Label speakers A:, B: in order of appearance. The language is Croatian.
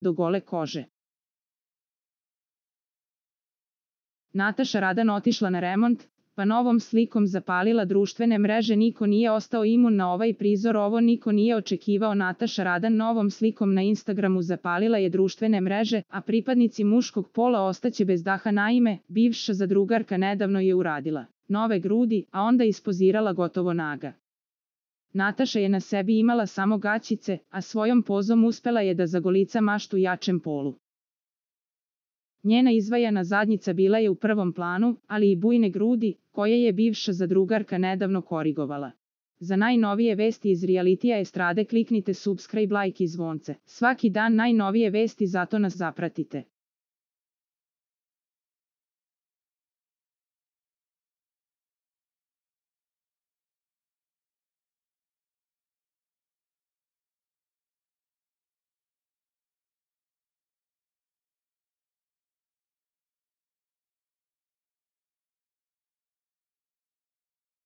A: do gole kože. Nataša Radan otišla na remont, pa novom slikom zapalila društvene mreže. Niko nije ostao imun na ovaj prizor, ovo niko nije očekivao. Nataša Radan novom slikom na Instagramu zapalila je društvene mreže, a pripadnici muškog pola ostaće bez daha. Naime, bivša zadrugarka nedavno je uradila nove grudi, a onda ispozirala gotovo naga. Nataša je na sebi imala samo gaćice, a svojom pozom uspela je da zagolica maštu jačem polu. Njena izvajana zadnjica bila je u prvom planu, ali i bujne grudi, koje je bivša zadrugarka nedavno korigovala. Za najnovije vesti iz realitija estrade kliknite subscribe, like i zvonce. Svaki dan najnovije vesti, zato nas zapratite.